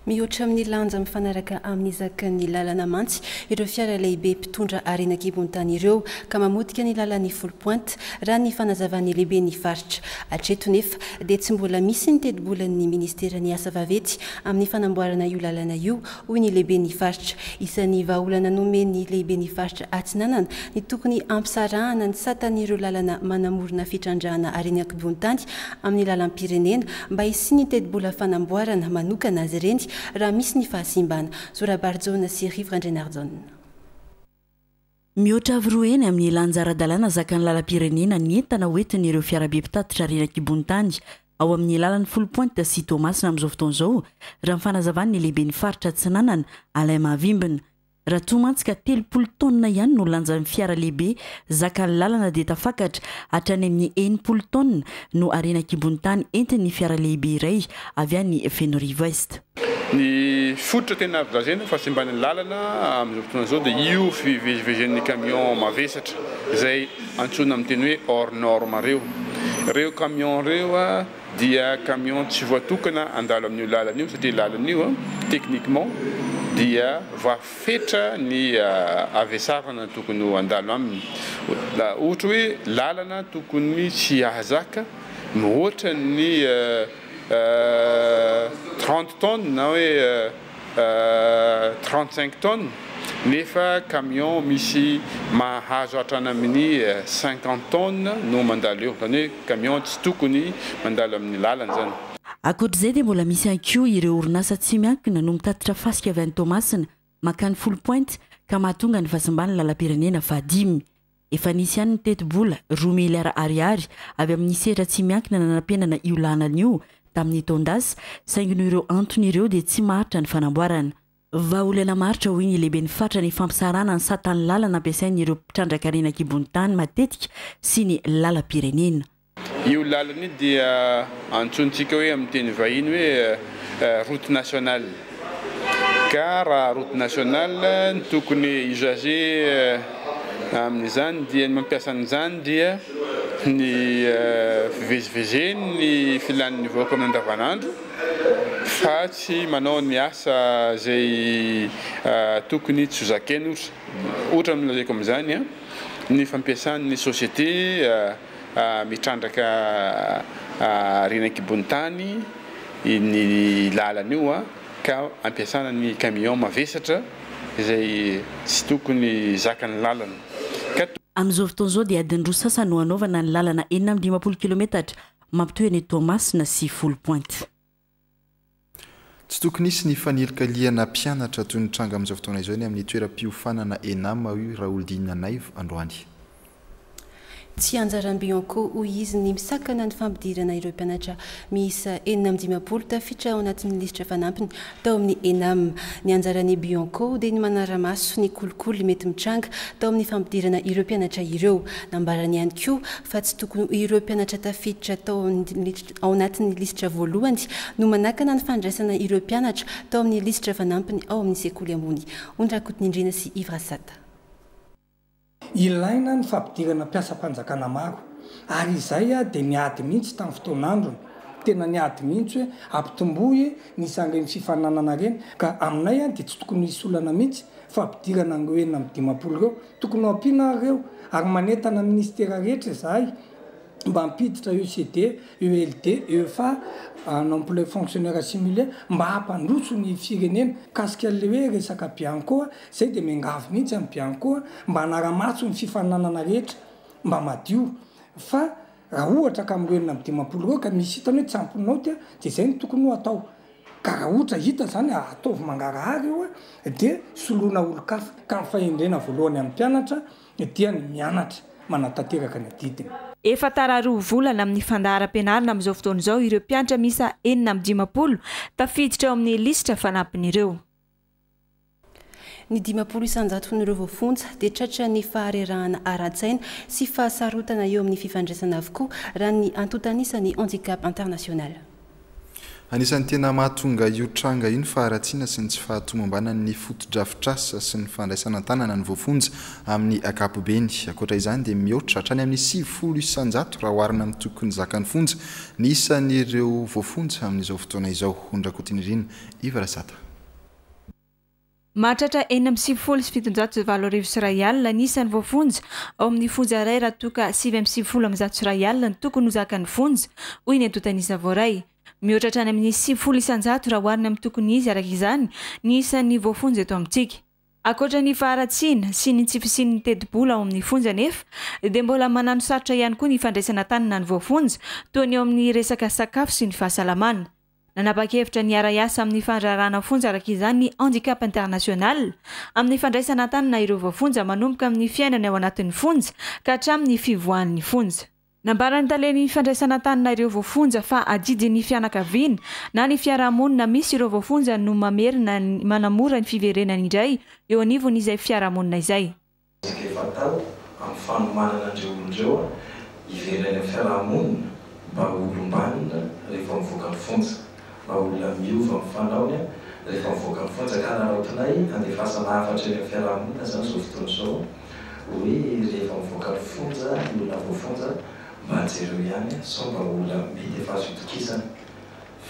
Mihoatra amin'ny lanja mifanaraka amin'ny zakan'ny lalana mantsy ireo fiara lehibe mpitondra harena an-kibon-tany ireo ka mamotika ny lalan'i Foulpointe, raha ny fanazavan'ny lehiben'ny faritra. Hatreto nefa dia tsy mbola misy ny tetibolan'ny ministeran'ny asa vaventy amin'ny fanamboarana io lalana io, hoy ny lehiben'ny faritra. Isan'ny vahaolana nomen'ny lehiben'ny faritra Atsinanana ny tokony hampisarahana ny satan'ireo lalana manamorona fitrandrahana harena an-kibon-tany amin'ny lalam-pirenena mba hisian'ny tetibola fanamboarana manokana azy ireny raha misy ny fahasimbana. Zo Rabarijaona sy Rivo Randrianarijaona. Mihoatra avo roa heny amin'ny lanja ara-dalàna zakan'ny lalam-pirenena ny entana hoentin'ireo fiarabe mpitatitra harena an-kibon'ny tany ao amin'ny lalan'i Foulpointe sy Toamasina amin'izao fotoana izao, raha ny fanazavan'ny lehiben'ny faritra Atsinanana, Alain Mahavimbina. Raha toa mantsy ka 30 taonina ihany no lanjan'ny fiara lehibe zakan'ny lalana dia tafakatra hatrany amin'ny 60 taonina no harena an-kibon'ny tany entin'ny fiara lehibe iray avy any Fenoarivo Est. Ny fototra tena azo lazaina fa simban'ny lalana amin'izao fotoana izao dia io fivezivezen'ny camion mavesatra izay antsoina amin'ny teny hoe hors norme ireo. Ireo camion ireo dia camion tsy voatokana handalo amin'io lalana io satria lalana io techniquement dia voafetra ny havesarana tokony ho handalo aminy. Ohatra hoe lalana tokony tsy hahazaka mihoatra ny 30 tonnes na hoe 35 tonnes nefa camion misy mahazo hatrany amin'ny 50 tonnes no mandalo eo, izany hoe camion tsy tokony mandalo amin'ny lalana izany. Ankoatra izay dia mbola misy ihany koa ireo orinasa tsy miankina no mitatitra fasika avy any Toamasina mankany Foulpointe ka mahatonga ny fahasimban'ny lalam-pirenena fahadimy. Efa nisy ihany ny tetibola, roa miliara ariary, avy amin'ny sehatra tsy miankina nanampenana io lalana io tamin'ny taon-dasa, saingy noho ireo antony ireo dia tsy maharitra ny fanamboarana. Vahaolana maharitra hoy ny lehiben'ny faritra ny fampisarahana ny satan'ny lalana ampiasain'ireo mpitrandraka harena an-kibon'ny tany matetika sy ny lalam-pirenena. Io lalana io dia antsointsika hoe amin'ny teny vahiny hoe route nationale. Ka raha route nationale ny tokony usager amin'izany dia ny mampiasa an'izany dia ny fivezivezen'ny filan'ny vahoaka amin'ny andavanandro fa tsy manao ny asa izay tokony tsy ho zakainy ohatra. Ohatra no lazaiko amin'izany ny fampiasan'ny société Mitrandraka harena an-kibon'ny tany iny lalana io ka ampiasana ny camion mavesatra izay tsy tokony zakan'ny lalana ka. Amin'izao fotoana izao dia adiny roa sasany no hanaovana ny lalana 56 kilometatra mampitohy an'i Toamasina sy Foulpointe. Tsy tokony hisy ny fanilikilihana mpianatra toy ny tranga amin'izao fotoana izao eny amin'ny toeram-piofanana Enam, hoy Raholdina Naivo androany. Tsy anjaran'ny Bianco, hoy izy, ny misakana ny fampidirana ireo mpianatra miisa 56 tafiditra ao anatin'ny lisitra fanampiny tao amin'ny Enam. Ny anjaran'ny Bianco dia ny manara-maso ny kolikoly mety mitranga tao amin'ny fampidirana ireo mpianatra ireo. Nambarany ihany koa fa tsy tokony ho ireo mpianatra tafiditra tao ao anatin'ny lisitra voalohany no manakana ny fandraisana ireo mpianatra tao amin'ny lisitra fanampiny ao amin'ny sekoly ambony. Ondra Rakotonindrina sy Yves Rasata. Ilaina ny fampidirana mpiasam-panjakana maro ary izay dia niady mihitsy tamin'ny fotoan'androny, tena niady mihitsy hoe ampitomboy ny isan'ireny fifaninanana ireny ka aminay dia tsy tokony hisy olana mihitsy fampidirana an'ireo 56 ireo, tokony ho ampiana ary ireo ary manentana ny minisitera rehetra izahay mba hampiditra ECD, ELD, EFA, un emploi fonctionnaire assimilé, mba hampandroso ny firenena. Mikasika an'ilay hoe resaka Bianco, izay dia miangavy mihitsy an'i Bianco mba hanara-maso ny fifaninanana rehetra mba madio fa raha ohatra ka amin'ireo 56 ireo ka misy hitany hoe tsy ampy naoty dia izay no tokony ho atao. Ka raha ohatra hita izany ataovy mangarahara io dia soloina olon-kafa. Ka ny fahendrena voalohany amin'ny mpianatra dia ny mianatra manatanteraka ny adidiny. Efa tara roa volana amin'ny fandaharam-pianarana amin'izao fotoana izao ireo mpianatra miisa 56 tafiditra ao amin'ny lisitra fanampiny ireo. Ny 50 isan-jaton'ireo voafonja dia tratran'ny faharerahana ara-tsaina sy fahasarotana eo amin'ny fifandraisana avokoa, raha ny antontan'isan'ny Handicap International. Anisan'ny tena mahatonga io tranga io ny faharatsiana sy ny tsy fahatomombanan'ny fotodrafitrasa sy ny fandraisana an-tanana ny voafonja amin'ny ankapobeny. Ankoatra izany dia mihoatra hatrany amin'ny 90% raha oharina amin'ny tokony zakan'ny fonja ny isan'ireo voafonja amin'izao fotoana izao. Hondrakotinirina Yves Rasata. Mahatratra 1796 ny isan'ny voafonja ao amin'ny fonja iray raha toa ka 199 ny tokony ho zakan'ny fonja, hoy ny antontan'isa voaray. Mihoatra hatrany amin'ny 90% raha oharina amin'ny tokony izy araka izany ny isan'ny voafonja eto amintsika. Ankoatra ny faharatsiana sy ny tsy fisian'ny tetibola ao amin'ny fonja anefa dia mbola manano sarotra ihany koa ny fandraisana an-tanana ny voafonja toa ny eo amin'ny resaka sakafo sy ny fahasalamana. Nanapa-kevitra ny hiara-hiasa amin'ny fandraharahana fonja araka izany ny Handicap International amin'ny fandraisana an-tanana ireo voafonja manomboka amin'ny fiainany ao anatin'ny fonja ka hatramin'ny fivoahany ny fonja. Nambaran'ny talen'ny fandraisana an-tanana ireo voafonja fa adidin'ny fianakaviana na ny fiarahamonina misy ireo voafonja no mamerina manamora ny fiverenany indray eo anivon'izay fiarahamonina izay. Ezaka efa atao amin'ny fanomanana an'ireo olona ireo hiverina any amin'ny fiaraha-monina mba ho olom-banona rehefa mivoaka ny fonja, mba olona miova amin'ny fanaony rehefa mivoaka ny fonja. Ka araraotinay handefasana hafatra eny amin'ny fiaraha-monina izany izao fotoana izao hoe rehefa mivoaka ny fonja ny olona voafonja mba jereo ihany sao mba olona mety efa azo itokisana.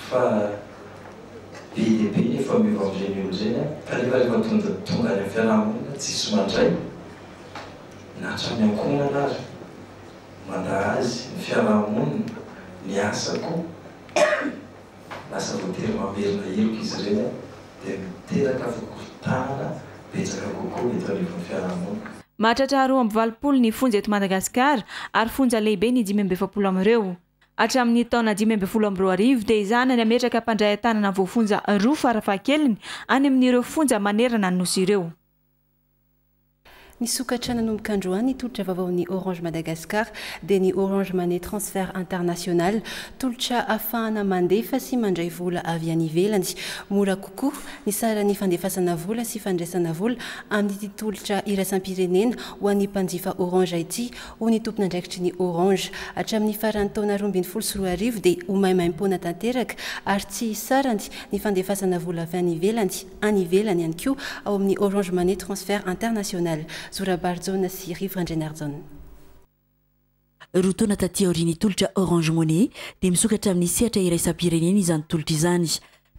Fa be dia be ny efa miova amin'ireny olona ireny an, kanefa rehefa tonga tonga any amin'ny fiaraha-monina tsisy mandray na hatramin'ny ankohonana ary mandà azy, ny fiaraha-monina, ny asa koa lasa voatery mamerina heloka izy ireny an, dia miteraka fikorontanana betsaka kokoa eto anivon'ny fiaraha-monina. Mahatratra 82 ny fonja eto Madagasikara ary fonja lehibe ny 45 amin'ireo. Hatramin'ny taona 2015 dia ezahana ny hametraka mpandray an-tanana voafonja roa farafahakeliny any amin'ireo fonja manerana ny Nosy ireo. Nisokatra nanomboka androany ny tolotra vaovaon'ny Orange Madagascar dia ny Orange Money Transfert International. Tolotra ahafahana mandefa sy mandray vola avy any ivelany. Mora kokoa ny saran'ny fandefasana vola sy fandraisana vola amin'ity tolotra iraisam-pirenena ho an'ny mpanjifa Orange ity hoy ny tompon'andraikitry ny Orange. Hatramin'ny faran'ny taona 2012 dia ho maimaimpoana tanteraka ary tsy hisy sarany ny fandefasana vola avy any ivelany any ivelany ihany koa ao amin'ny Orange Money Transfert International. Zo Rabarijaona sy Rivo Randrianarijaona. Roa taona taty aorian'ny tolotra Orange Money dia misokatra amin'ny sehatra iraisam-pirenena izany tolotra izany.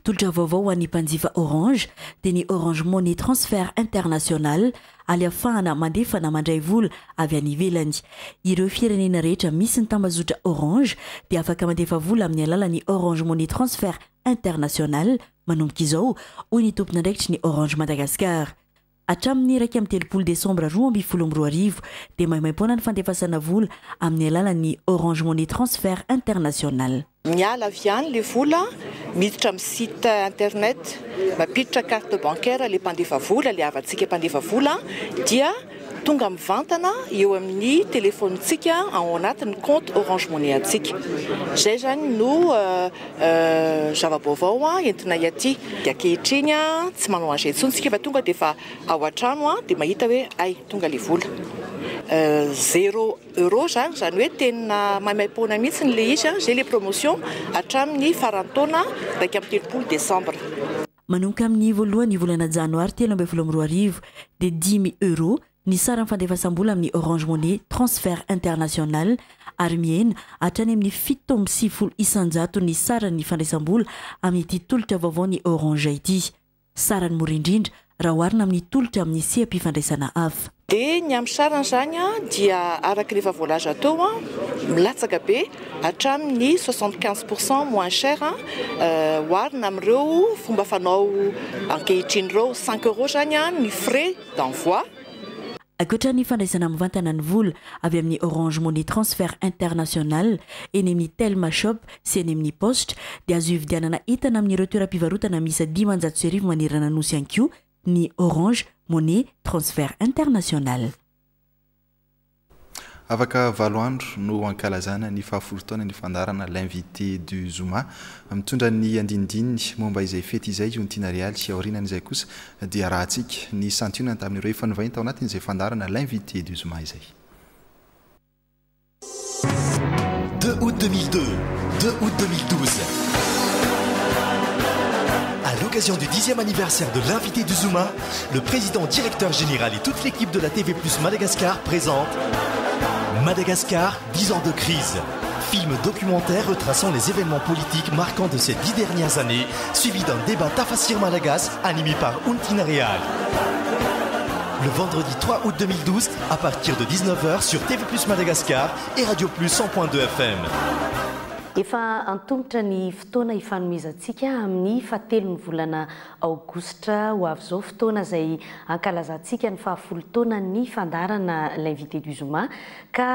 Tolotra vaovao ho an'ny mpanjifa Orange dia ny Orange Money Transfert International aly ahafahana mandefa na mandray vola avy any ivelany. Ireo firenena rehetra misy ny tambazotra Orange dia afaka mandefa vola amin'ny alalan'ny Orange Money Transfert International manomboka izao, hoy ny tompon'andraikitry ny Orange Madagascar. Hatramin'ny 31 desambra 2012 dia maimaimpoana ny fandefasana vola amin'ny alalan'ny Orange Money Transfert International. Miala avy any le vola, miditra amin'ny site internet, mampiditra carte bancaire le mpandefa vola, le havantsika mpandefa vola dia. Tonga mivantana eo amin'ny telefaonintsika ao anatin'ny compte Orange Money antsika. Izay izany no zava-baovao entinay aty. Dia ankehitriny tsy manao an'izay intsony isika fa tonga dia efa ao an-trano dia mahita hoe hay tonga ilay vola. Zéro euro izany, izany hoe tena maimaim-poana mihitsy ilay izy, izay ilay promotion hatramin'ny faran'ny taona 31 desambra. Manomboka amin'ny voalohan'ny volana janoary 2013 dia dimy euros ny saran'ny fandefasam-bola amin'ny Orange Money Transfert International ary mihena hatrany amin'ny 97% ny saran'ny fandraisam-bola amin'ity tolotra vaovaon'ny Orange ity. Sarany mora indrindra raha oharina amin'ny tolotra amin'ny seha-pifandraisana hafa. Dia ny amin'ny sarany izany dia araka ny efa voalaza teo, milatsaka be hatramin'ny 75 pourcent moins cher oharina amin'ireo fomba fanao ankehitriny ireo. 5 euros izany ny frais d'envoi. Ankoatra ny fandraisana mivantana ny vola avy amin'ny Orange Money Transfert International eny amin'ny Telma Shop sy eny amin'ny Paositra dia azo ividianana entana amin'ireo toeram-pivarotana miisa 1500 manerana Nosy ihany koa ny Orange Money Transfert International. Afaka valo andro no hankalazana ny fahafolo taona ny fandaharana L'invité du Zoma. Mitondra ny andinindininy momba izay fety izay i Ontiana Realy. Aorianan'izay kosa dia arahantsika ny santionany tamin'ireo efa nivahiny tao anatin'izay fandaharana L'invité du Zoma izay. 2 août 2002, 2 août 2012. À l'occasion du 10e anniversaire de l'invité du Zoma, le président directeur général et toute l'équipe de la TV Plus Madagascar présente Madagascar, 10 ans de crise. Film documentaire retraçant les événements politiques marquants de ces 10 dernières années, suivi d'un débat Tafasiry Malagasy animé par Ontiana Realy. Le vendredi 3 août 2012, à partir de 19h sur TV Plus Madagascar et Radio Plus 100.2 FM. Efa antomotra ny fotoana ifanomezantsika amin'ny fahatelon'ny volana aogositra ho avy izao, fotoana izay ankalazantsika ny fahafolo taona ny fandaharana L'invité du Zoma, ka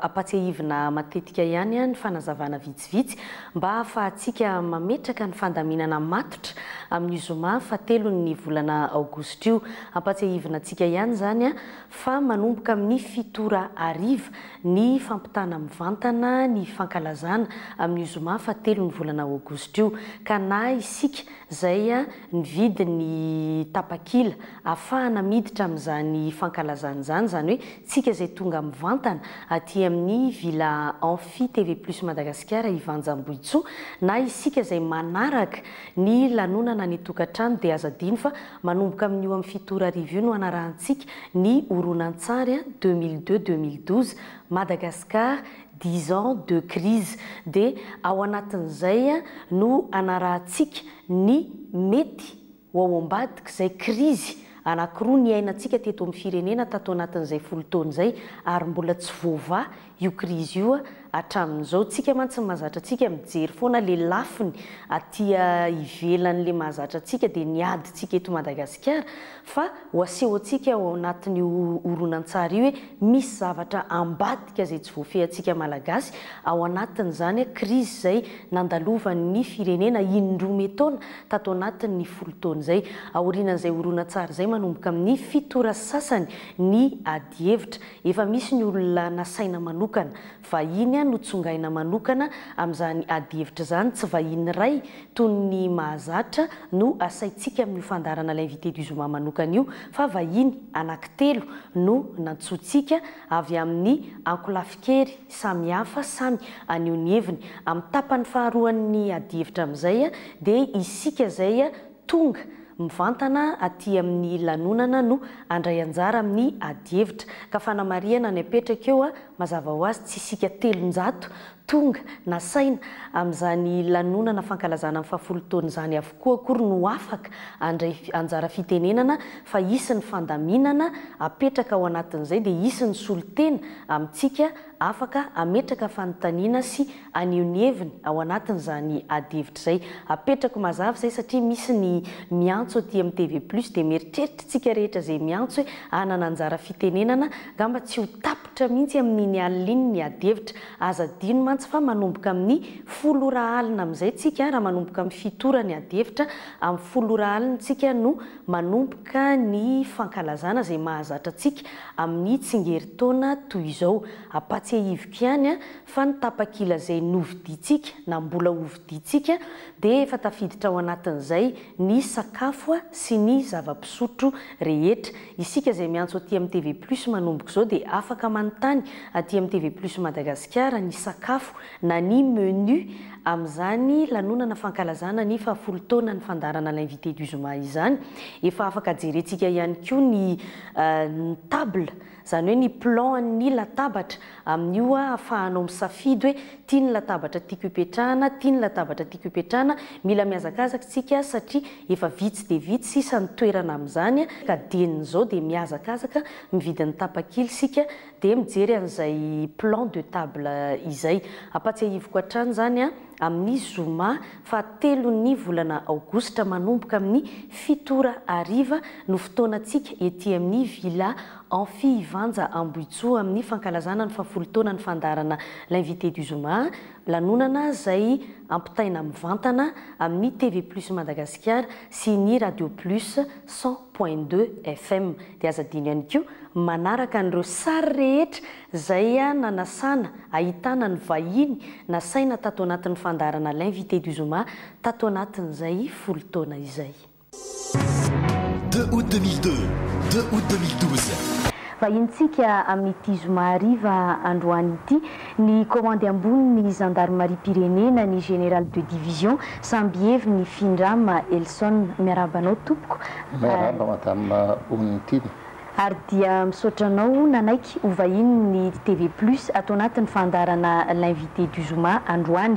ampatsiahivina matetika ihany ny fanazavana vitsivitsy mba hahafahantsika mametraka ny fandaminana matotra amin'io zoma fahatelon'ny volana aogositra io. Ampatsiahivina antsika ihany izany fa manomboka amin'ny fito ora hariva ny fampitana mivantana ny fankalazana amin'io zoma fahatelon'ny volana aogositra io, ka na isika izay nividy ny tapakila ahafahana miditra amin'izany fankalazana izany, izany hoe tsika izay tonga mivantana aty amin'ny Villa Amphi TV Plus Madagasikara Ivanja Ambohitsoa, na isika izay manaraka ny lanonana any an-tokantrano dia aza adino fa manomboka amin'io amin'ny fito ora hariva io no hanarahantsika ny horonantsary 2002 2012 Madagascar 10 ans de crise dia ao anatin'izay no hanarahantsika ny mety ho ao ambadik'izay krizy anankiroa niainantsika teto amin'ny firenena tato anatin'izay folo taona izay ary mbola tsy voavaha io krizy io hatramin'izao. Tsika mantsy ny mahazatra antsika mijery foana le lafiny aty ivelan'le mahazatra antsika dia ny adintsika eto Madagasikara fa ho aseho antsika ao anatin'io horonantsary io hoe misy zavatra ambadika izay tsy voafehintsika Malagasy ao anatin'izany krizy izay nandalovan'ny firenena indroa metaona tato anatin'ny folo taona izay. Aorianan'izay horonantsary izay manomboka amin'ny fito ora sasany ny adihevitra. Efa misy ny olona nasaina manokana, vahiny notsongaina manokana amin'izany adihevitra izany, tsy vahiny iray toy ny mahazatra no asaintsika amin'io fandaharana L'invité du Zoma manokana io fa vahiny anankitelo no nantsointsika avy amin'ny ankolafin-kery samihafa samy haneho ny heviny. Amin'ny tapany faharoan'ny adihevitra amin'izay dia isika izay tonga mivantana aty amin'ny lanonana no handray anjara amin'ny adihevitra. Ka fanamarihana ny apetraka eo, mazava ho azy tsy isika 300 tonga nasaina amin'izany lanonana fankalazana ny fahafolo taona izany avokoa akory no afaka handray anjara fitenenana fa hisy ny fandaminana apetraka ao anatin'izay dia hisy ny solontena amintsika afaka hametraka fanontaniana sy haneho ny heviny ao anatin'izany adihevitra izay. Apetrako mazava izay satria misy ny miantso aty amin'ny TV Plus dia mieritreritra isika rehetra izay miantso hoe hanana anjara fitenenana, angamba tsy ho tapitra mihitsy amin'iny. amin'iny alina iny ny adihevitra. Aza adino mantsy fa manomboka amin'ny folo ora alina amin'izay tsika, raha manomboka amin'ny fito ora ny adihevitra, amin'ny folo ora alina tsika no manomboka ny fankalazana izay mahazatra antsika amin'ny tsingerin-taona toy izao. Ampatsiahiviko ihany fa ny tapakila izay novidiantsika na mbola hovidiantsika dia efa tafiditra ao anatin'izay ny sakafo sy ny zava-pisotro rehetra. Isika izay miantso aty amin'ny TV Plus manomboka izao dia afaka manontany aty amin'ny TV Plus Madagasikara ny sakafo na ny menu amin'izany lanonana fankalazana ny fahafolo taonan'ny fandaharana L'invité du Zoma izany. Efa afaka jerentsika ihany koa ny ny table, izany hoe ny plan an'ny latabatra amin'io ahafahanao misafidy hoe ity ny latabatra tiako hipetrahana, ity ny latabatra tiako hipetrahana. Mila mihazakazaka isika satria efa vitsy dia vitsy sisa ny toerana amin'izany ka dien'izao dia mihazakazaka mividy ny tapakila isika dia mijery an'izay plan de table izay. Ampatsiahiviko hatrany izany amin'ny zoma fahatelon'ny volana aogositra manomboka amin'ny fito ora hariva no fotoanantsika ety amin'ny Villa Amphi Ivanja Ambohitsoa amin'ny fankalazana ny fahafolo taonan'ny fandaharana L'invité du Zoma, lanonana izay ampitaina mivantana amin'ny TV Plus Madagasikara sy ny Radio Plus 100.2 FM. Dia aza adino ihany koa manaraka an'ireo sary rehetra izay nanasana, ahitana ny vahiny nasaina tato anatin'ny fandaharana L'invité du Zoma tato anatin'izay folo taona izay. 2 août 2002, 2 août 2012. Vahinintsika amin'ity zoma hariva androany ity ny komandy ambonin'ny zandarimariam-pirenena, ny général de division Sambiheviny Findrama Elson. Miarahaba anao tompoko. Miarahaba madame Onitiana. Ary dia misaotra anao nanaiky ho vahinin'ny TV Plus ato anatin'ny fandaharana L'invité du Zoma androany.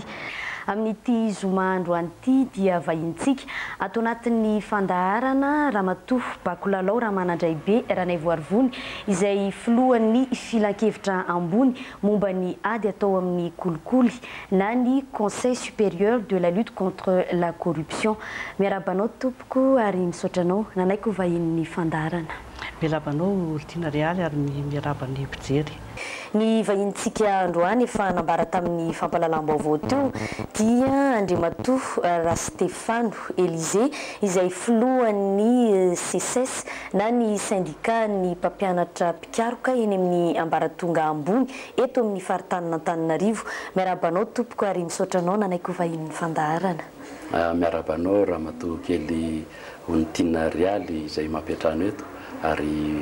Amin'ity zoma androany ity dia vahinintsika ato anatin'ny fandaharana Ramatoa Bakolalao Ramanandraibe Ranaivoarivony izay filohan'ny filankevitra ambony momba ny ady atao amin'ny kolikoly na ny Conseil supérieur de la lutte contre la corruption. Miarahaba anao tompoko ary misaotra anao nanaiky ho vahinin'ny fandaharana. Miarahaba anao Olitiana Realy ary miarahaba ny mpijery. Ny vahinintsika androany efa nambara tamin'ny fampahalalam-baovao teo dia Andriamatoa Rastefano Elysé izay filohan'ny Seces na ny syndicat-n'ny mpampianatra mpikaroka eny amin'ny ambaratonga ambony eto amin'ny faritanin'Antananarivo. Miarahaba anao tompoko ary misaotra anao nanaiky ho vahinin'ny fandaharana. Miarahaba anao Ramatoa kely Onitiana Rialy izay mampiantrano eto ary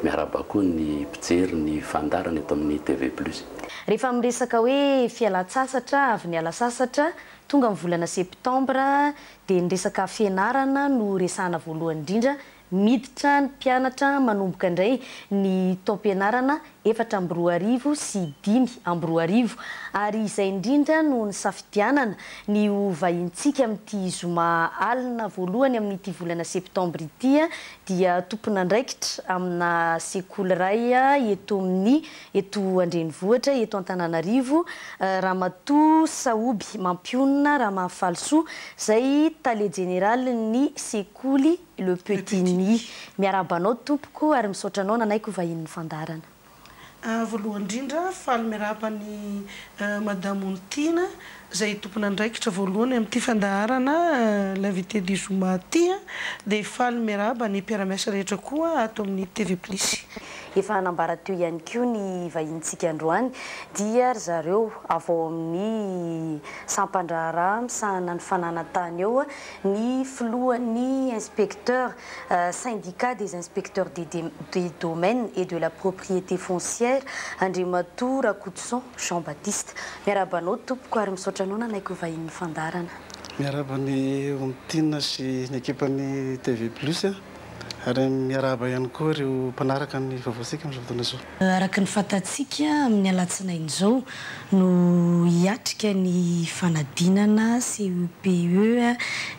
miarahaba koa ny mpijery ny fandaharana eto amin'ny TV Plus. Rehefa miresaka hoe fialan-tsasatra, avy niala sasatra, tonga ny volana septambra dia ny resaka fianarana no resahana voalohany indrindra Miditra ny mpianatra manomboka indray ny taom-pianarana 2024 sy 2025 ary izay indrindra no nisafidianana ny ho vahintsika amin'ity zoma alina voalohany amin'ity volana septambra ity dia tompon'andraikitra amina sekoly iray eto amin'ny eto an-drenivohitra eto Antananarivo Ramatoa Sahoby Mampionona Ramahafalisoa izay tale jeneralin'ny sekoly Le Petit Nid. Miarahaba anao tompoko ary misaotra anao nanaiky ho vahinin'ny fandaharana. Voalohany indrindra, faly miarahaba an'i Madame Onitiana izay tompon'andraikitra voalohany amin'ity fandaharana L'invité du Zoma ity dia faly miarahaba ny mpiara-miasa rehetra koa ato amin'ny TV Plus. Efa nambara teo ihany koa ny vahinintsika androany dia ry zareo avy ao amin'ny sampan-draharaha misahana ny fananan-tany eo ny filohan'ny inspecteur syndicat des inspecteurs des des domaines et de la propriété foncière Andriamatoa Rakotoson Jean Baptiste. Miarahaba anao tompoko ary misaotra anao nanaiky ho vahinin'ny fandaharana. Miarahaba ny Onitiana sy ny ekipan'ny TV Plus ary miarahaba ihany koa ireo mpanaraka ny vaovaontsika amin'izao fotoana izao. Araka ny fantatsika, amin'ny alatsinainy izao no hiatrika ny fanadinana CEPE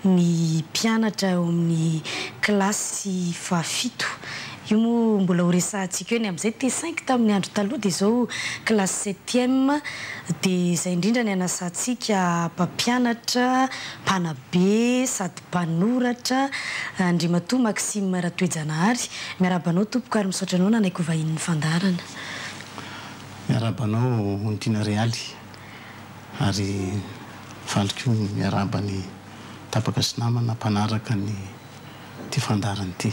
ny mpianatra ao amin'ny kilasy fahafito. Io moa mbola ho resahantsika eo ny amin'izay. T5 tamin'ny andro taloha dia izao kilasy septième. Dia izay indrindra ny anasantsika mpampianatra, mpanabe sady Mpanoratra, Andriamatoa Maxime Ratoejanahary. Miarahaba anao tompoko ary misaotra anao nanaiky ho vahinin'ny fandaharana. Miarahaba anao Onitiana Realy ary faly koa ny miarahaba ny tapaka sy namana mpanaraka ny ity fandaharana ity.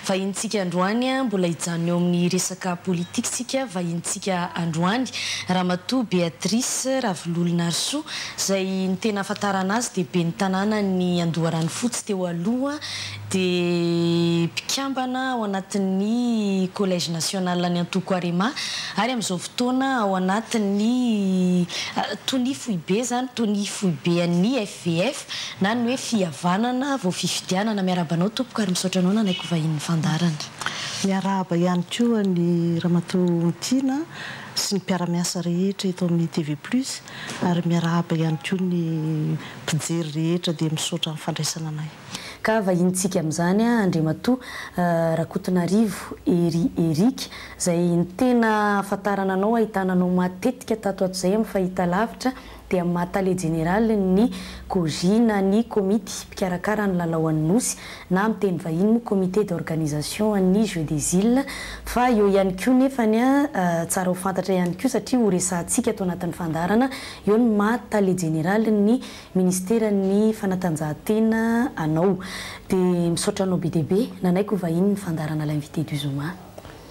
Vahinintsika androany, mbola hijanona eo amin'ny resaka politika isika, vahinintsika androany Ramatoa Béatrice Ravololonarisoa, izay ny tena ahafantarana azy dia ben'ny tanànan'i Andoharanofotsy teo aloha, dia mpikambana ao anatin'ny Collège national an'ny antoko Arema ary amin'izao fotoana ao anatin'ny tonia foibe izany, tonia foibe an'ny FVF na ny hoe fihavanana vao fifidianana. Miarahaba anao tompoko ary misaotra anao nanaiky ho vahinin'ny fandaharana. Miarahaba ihany koa an'i Ramatoa Tiana sy ny mpiara-miasa rehetra eto amin'ny TV Plus ary miarahaba ihany koa ny mpijery rehetra dia misaotra amin'ny fandraisana anay. Ka vahinintsika amin'izany Andriamatoa Rakotonarivo Hery Eric, izay ny tena ahafantarana anao, ahitana anao matetika tato ato izay amin'ny fahitalavitra, dia amin'ny maha tale jeneralin'ny COJI na ny komity mpikarakara ny lalao an'ny Nosy na amin'ny teny vahiny moa comité d'organisation an'ny Jeux des Iles, fa eo ihany koa nefany tsara ho fantatra ihany koa satria ho resahantsika ato anatin'ny fandaharana eo ny maha tale jeneralin'ny Ministeran'ny fanatanjahantena anao. Dia misaotra anao be dia be nanaiky ho vahiny ny fandaharana L'invité du Zoma.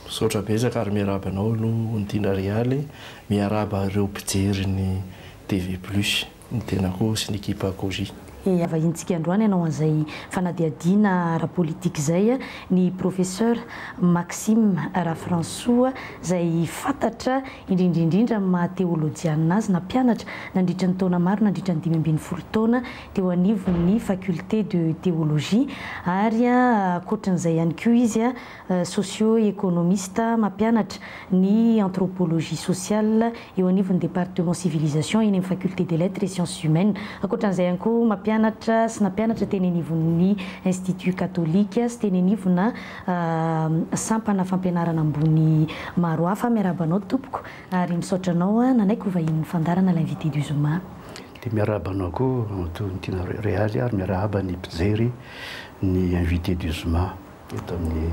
Misaotra betsaka ary miarahaba anao aloha Onitiana Realy, miarahaba ireo mpijery ny TV Plus, ny tenako sy ny ekipa Koji. Vahinintsika androany hanao an'izay fanadihadiana ara-politika izay ny Professeur Maxime Rafransoa izay fantatra indrindra indrindra amin'ny maha teolojianina azy, nampianatra nandritra ny taona maro nandritra ny 15 taona teo anivon'ny Faculté de Théologie ary ankoatran'izay ihany koa izy socio-économiste mampianatra ny anthropologie sociale eo anivon'ny département civilisation eny amin'ny Faculté des Lettres et Sciences Humaines. Ankoatran'izay ihany koa mampianatra sy nampianatra teny anivon'ny Institut Catholique sy teny anivona sampana fampianarana ambony maro hafa. Miarahaba anao tompoko ary misaotra anao nanaiky ho vahinin'ny fandaharana L'invité du Zoma. Dia miarahaba anao koa Ramatoa Tiana Realy ary miarahaba ny mpijery ny Invité du Zoma eto amin'ny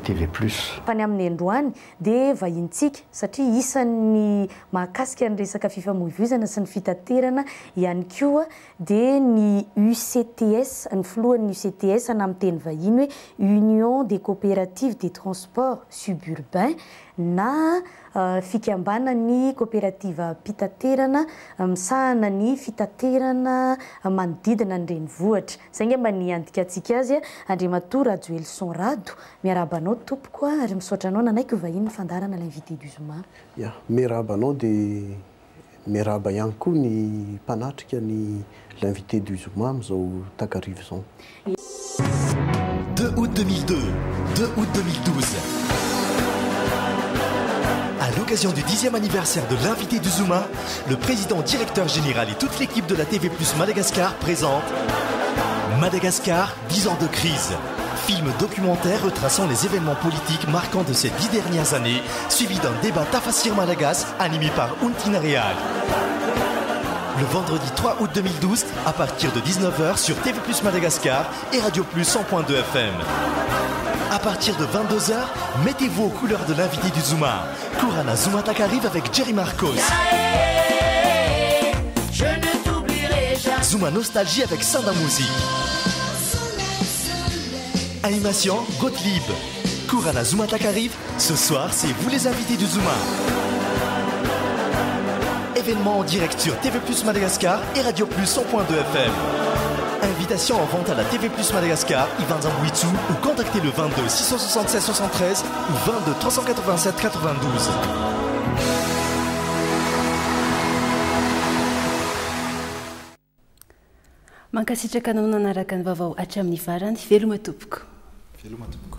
TV Plus. Fa ny amin'ny androany dia vahinintsika satria isan'ny mahakasika ny resaka fifamoivoizana sy ny fitaterana ihany koa dia ny UCTS, ny filohan'ny UCTS na amin'ny teny vahiny hoe Union des Coopératives des Transports Suburbains na fikambanan'ny koperativam-pitaterana misahana ny fitaterana manodidina ny renivohitra. Izay angamba ny handikantsika azy. Andriamatoa Rajoelison Rado, miarahaba anao tompoko ary misaotra anao nanaiky ho vahiny ny fandaharana L'invité du Zoma. Ya, miarahaba anao dia miarahaba ihany koa ny mpanatrika ny L'invité du Zoma amin'izao takariva izao. 2 août 2002, 2 août 2012. À l'occasion du 10e anniversaire de l'invité du Zuma, le président directeur général et toute l'équipe de la TV Plus Madagascar présente Madagascar, 10 ans de crise. Film documentaire retraçant les événements politiques marquants de ces 10 dernières années, suivi d'un débat Tafasir Malagas animé par Untina Real. Le vendredi 3 août 2012, à partir de 19h sur TV Plus Madagascar et Radio Plus 100.2 FM. À partir de 22h, mettez-vous aux couleurs de l'invité du Zuma. Kurana Zuma arrive avec Jerry Marcos. Zuma Nostalgie avec Sanda Music. Animation Gottlieb. Kurana Zuma arrive. Ce soir, c'est vous les invités du Zuma. Événement en direct sur TV Plus Madagascar et Radio Plus 100.2 FM. Invitation en vente à la TV Plus Madagascar, Ivan Zambouitsou ou contactez le 22 676 73 ou 22 387 92. Mankasitraka anao nanaraka ny vaovao hatramin'ny farany. Veloma tompoko. Veloma tompoko.